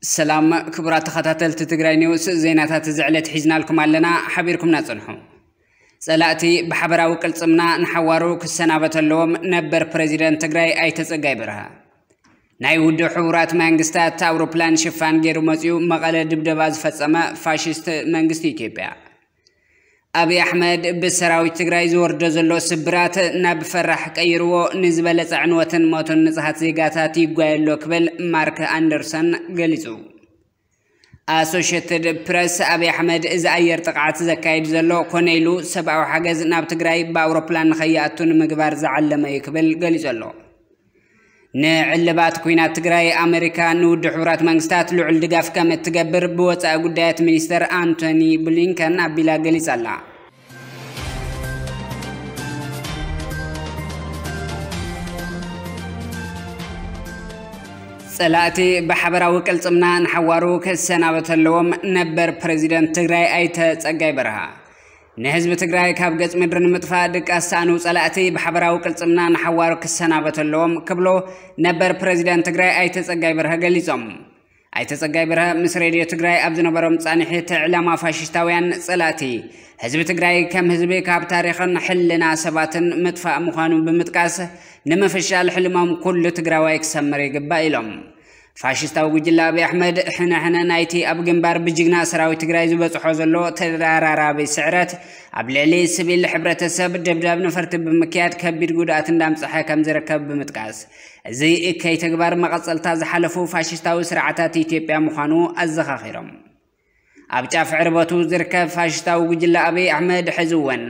ሰላም ክቡራት ተኸታተልቲ ትግራይ ኒውስ፣ ዜናታት እዚ ዕለት ሒዝናልኩም ኣለና፣ ሓቢርኩምና ጽንሑ። ጸላእቲ ብሓበራዊ ቅልጽምና ንሓዋሩ ክሰናበት ኣለዎም፣ ነበር ፕረዚደንት ትግራይ ኣይተ ጸጋይ በርሀ። ናይ ውድብ ሕቡራት መንግስታት ኣውሮፕላን ሽፋን ገይሩ መጺኡ መቐለ ድብደባ ዝፈጸመ ፋሽስት መንግስቲ ኢትዮጵያ። ኣብይ ኣሕመድ ብሰራዊት ትግራይ ዝወርዶ ዘሎ ስብራት ናብ ፈራሕ ቀይርዎ፣ ንዝበለጸ ዕንወትን ሞትን ንጹሃት ዜጋታት ይጓየ ኣሎ ክብል ማርክ ኣንደርሰን ገሊጹ። ኣሶሽየትድ ፕረስ ኣብይ ኣሕመድ እዚ ኣየር ጥቕዓት ዘካይድ ዘሎ ኮነ ኢሉ ሰብኣዊ ሓገዝ ናብ ትግራይ ብኣውሮፕላን ንኸይኣቱ ንምግባር ዝዓለመ እዩ ክብል ገሊጹ ኣሎ። ንዕልባት ኲናት ትግራይ ኣመሪካ ንውድብ ሕቡራት መንግስታት ልዑል ድጋፍ ከም እትገብር ብወጻኢ ጉዳያት ሚኒስተር ኣንቶኒ ብሊንከን ኣቢላ ገሊጻ ኣላ። ጸላእቲ ብሓበራዊ ቅልጽምና ንሓዋሩ ክሰናበት ኣለዎም፣ ነበር ፕረዚደንት ትግራይ ኣይተ ጸጋይ በርሃ። ንህዝቢ ትግራይ ካብ ገጽ ምድሪ ንምጥፋእ ድቃስ ሰኣኑ ጸላእቲ ብሓበራዊ ቅልጽምና ንሓዋሩ ክሰናበት ኣለዎም ክብሉ ነበር ፕረዚደንት ትግራይ ኣይተ ጸጋይ በርሀ ገሊጾም። ኣይተ ጸጋይ በርሀ ምስ ሬድዮ ትግራይ ኣብ ዝነበሮም ጻንሒት፣ ዕላማ ፋሽስታውያን ጸላእቲ ህዝቢ ትግራይ ከም ህዝቢ ካብ ታሪኽን ሕልና ሰባትን ምጥፋእ ምዃኑ ብምጥቃስ፣ ንምፍሻል ሕልሞም ኩሉ ትግራዋይ ክሰምር ይግባእ ኢሎም። ፋሽስታዊ ጉጅለ ኣብይ ኣሕመድ ሕነ ሕነ ናይቲ ኣብ ግንባር ብጅግና ሰራዊት ትግራይ ዝበፅሖ ዘሎ ተደራራቢ ስዕረት፣ ኣብ ልዕሊ ስቪል ሕብረተሰብ ደብዳብ ነፈርቲ ብምክያድ ከቢድ ጉድኣት እንዳምፀሐ ከም ዝርከብ ብምጥቃስ፣ እዚ እከይ ተግባር መቐፀልታ ዝሓለፉ ፋሽስታዊ ስርዓታት ኢትዮጵያ ምዃኑ ኣዘኻኺሮም። ኣብ ጫፍ ዕርበቱ ዝርከብ ፋሽስታዊ ጉጅለ ኣብይ ኣሕመድ ሕዚ እውን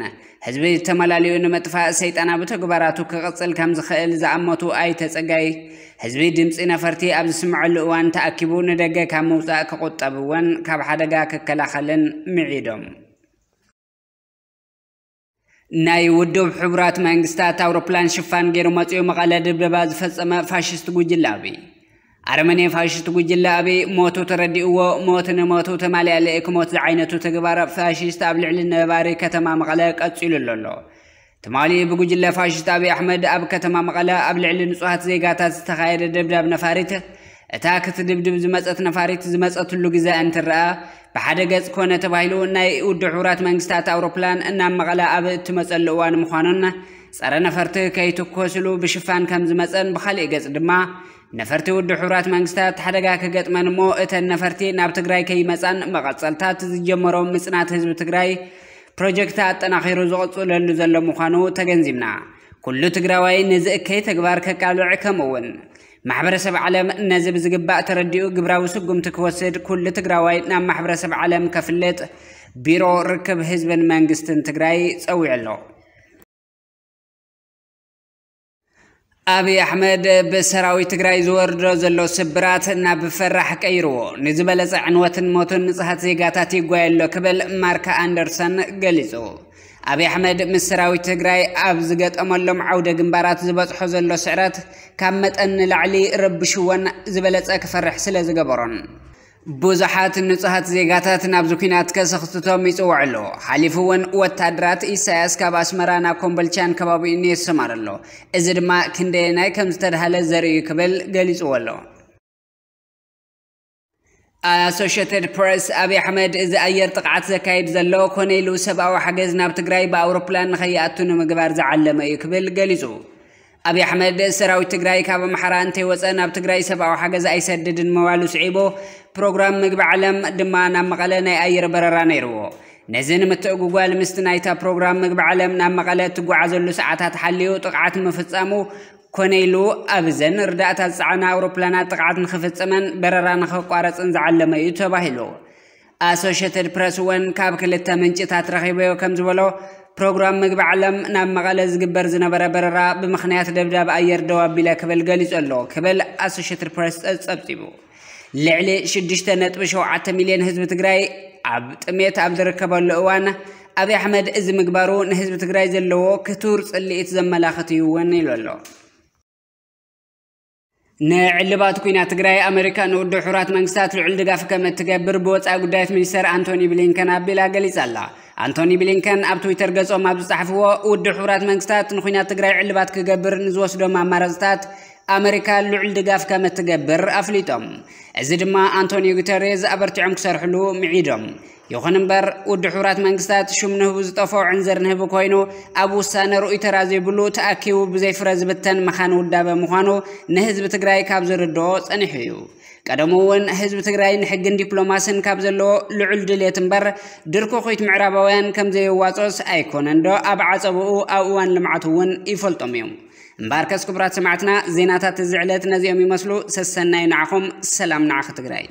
ህዝቢ ተመላሊኡ ንምጥፋእ ሰይጣናዊ ተግባራቱ ክቕጽል ከም ዝኽእል ዝኣመቱ ኣይተ ጸጋይ፣ ህዝቢ ድምጺ ነፈርቲ ኣብ ዝስምዐሉ እዋን ተኣኪቡ ንደገ ካብ ምውጻእ ክቑጠብ እውን ካብ ሓደጋ ክከላኸልን ምዒዶም። ናይ ውድብ ሕቡራት መንግስታት ኣውሮፕላን ሽፋን ገይሩ መጺኡ መቐለ ድብደባ ዝፈጸመ ፋሽስት ጉጅለ ኣብይ። ኣረመኔ ፋሽስት ጉጅለ ኣብይ ሞቱ ተረዲእዎ፣ ሞት ንሞቱ ተማልያ ልእክ ሞት ዝዓይነቱ ተግባር ፋሽስት ኣብ ልዕሊ ነባሪ ከተማ መቐለ ቀጺሉ ኣሎ። ትማሊ ብጉጅለ ፋሽስት ኣብይ ኣሕመድ ኣብ ከተማ መቐለ ኣብ ልዕሊ ንጹሃት ዜጋታት ዝተኻየደ ደብዳብ ነፋሪት፣ እታ ክትድብድብ ዝመጸት ነፋሪት ዝመጸትሉ ግዜ እንትረኣ፣ ብሓደ ገጽ ኮነ ተባሂሉ ናይ ውድብ ሕቡራት መንግስታት ኣውሮፕላን እናብ መቐለ ኣብ እትመጸሉ እዋን ምዃኑን፣ ጸረ ነፈርቲ ከይትኮስሉ ብሽፋን ከም ዝመጸን፣ ብኻሊእ ገጽ ድማ ነፈርቲ ውድብ ሕቡራት መንግስታት ሓደጋ ክገጥመን እሞ እተን ነፈርቲ ናብ ትግራይ ከይመጻን መቐጸልታት ዝጀመሮ ምጽናት ህዝቢ ትግራይ ፕሮጀክት ኣጠናኺሩ ዝቕጽለሉ ዘሎ ምዃኑ ተገንዚብና። ኩሉ ትግራዋይ ነዚ እከይ ተግባር ከቃልዕ፣ ከምኡ እውን ማሕበረሰብ ዓለም ነዚ ብዝግባእ ተረዲኡ ግብራዊ ስጉምቲ ክወስድ ኩሉ ትግራዋይ ናብ ማሕበረሰብ ዓለም ከፍልጥ ቢሮ ርክብ ህዝብን መንግስትን ትግራይ ጸዊዑ ኣሎ። ኣብይ ኣሕመድ ብሰራዊት ትግራይ ዝወርዶ ዘሎ ስብራት ናብ ፈራሕ ቀይርዎ፣ ንዝበለጸ ዕንወትን ሞትን ንጹሃት ዜጋታት ይጓየ ኣሎ ክብል ማርክ ኣንደርሰን ገሊጹ። ኣብይ ኣሕመድ ምስ ሰራዊት ትግራይ ኣብ ዝገጠመሎም ዓውደ ግንባራት ዝበጽሖ ዘሎ ስዕረት ካብ መጠን ንላዕሊ ረብሽዎን ዝበለጸ ክፈርሕ ስለ ዝገበሮን፣ ብዙሓት ንጹሃት ዜጋታት ናብዚ ኲናት ከሰኽትቶም ይጽውዕ ኣሎ። ሓሊፉ እውን ወታደራት ኢሳያስ ካብ ኣስመራ ናብ ኮምቦልቻን ከባቢኡን የሰማር ኣሎ። እዚ ድማ ክንደየናይ ከም ዝተድሃለ ዘርኢ እዩ ክብል ገሊጽዎ ኣሎ። ኣሶሽየትድ ፕሬስ ኣብይ ኣሕመድ እዚ ኣየር ጥቕዓት ዘካይድ ዘሎ ኮነ ኢሉ ሰብኣዊ ሓገዝ ናብ ትግራይ ብኣውሮፕላን ንኸይኣቱ ንምግባር ዝዓለመ እዩ ክብል ገሊጹ። ኣብይ ኣሕመድ ሰራዊት ትግራይ ካብ ኣምሓራ እንተይወፀ ናብ ትግራይ ሰብኣዊ ሓገዝ ኣይሰድድን ምባሉ ስዒቡ፣ ፕሮግራም ምግቢ ዓለም ድማ ናብ መቐለ ናይ ኣየር በረራ ነይርዎ። ነዚ ንምትእጉጓል ምስቲ ናይታ ፕሮግራም ምግቢ ዓለም ናብ መቐለ እትጓዓዘሉ ሰዓታት ሓልዩ ጥቕዓት ምፍጻሙ ኮነ ኢሉ ኣብዘን ርዳእታ ዝጸዓና ኣውሮፕላናት ጥቕዓት ንኽፍጽመን በረራ ንኽቋረጽን ዝዓለመ እዩ ተባሂሉ። ኣሶሽየትድ ፕረስ እውን ካብ ክልተ ምንጭታት ረኺበዮ ከም ዝበሎ፣ ፕሮግራም ምግቢ ዓለም ናብ መቐለ ዝግበር ዝነበረ በረራ ብምኽንያት ደብዳብ ኣየር ደው ኣቢለ ክብል ገሊጹ ኣሎ ክብል ኣሶሽየትድ ፕረስ ጸብጺቡ። ልዕሊ ሽዱሽተ ነጥቢ ሸውዓተ ሚልዮን ህዝቢ ትግራይ ኣብ ጥሜት ኣብ ዝርከበሉ እዋን፣ ኣብይ ኣሕመድ እዚ ምግባሩ ንህዝቢ ትግራይ ዘለዎ ክቱር ጽልኢት ዘመላኽት እዩ እውን ኢሉ ኣሎ። ንዕልባት ኲናት ትግራይ ኣመሪካ ንውድብ ሕቡራት መንግስታት ልዑል ድጋፍ ከም እትገብር ብወፃኢ ጉዳያት ሚኒስተር ኣንቶኒ ብሊንከን ኣቢላ ገሊጻ ኣላ። ኣንቶኒ ብሊንከን ኣብ ትዊተር ገጾም ኣብ ዝጸሓፍዎ፣ ውድብ ሕቡራት መንግስታት ንኲናት ትግራይ ዕልባት ክገብር ንዝወስዶም ኣማራፅታት ኣመሪካ ልዑል ድጋፍ ከም እትገብር ኣፍሊጦም። እዚ ድማ ኣንቶኒዮ ጉተሬዝ ኣበርቲዖም ክሰርሕሉ ምዒዶም። ይኹን እምበር፣ ውድብ ሕቡራት መንግስታት ሽም ንህቡ ዝጠፍኦ ዕንዝር ንህቢ ኮይኑ፣ ኣብ ውሳነ ርኡይ ተራ ዘይብሉ ተኣኪቡ ብዘይ ፍረ ዝብተን መኻን ውዳበ ምዃኑ ንህዝቢ ትግራይ ካብ ዝርድኦ ጸኒሑ እዩ። ቀደሙ እውን ህዝቢ ትግራይ ንሕግን ዲፕሎማስን ካብ ዘለዎ ልዑል ድሌት እምበር፣ ድርኩኺት ምዕራባውያን ከም ዘየዋጽኦስ ኣይኮነን ዶ ኣብ ዓጸብኡ ኣብ እዋን ልምዓት እውን ይፈልጦም እዩ። እምበኣርከስ ክቡራት ሰማዕትና፣ ዜናታት እዚ ዕለት ነዚኦም ይመስሉ። ሰሰናዩ ንዓኹም፣ ሰላም ንዓኺ ትግራይ።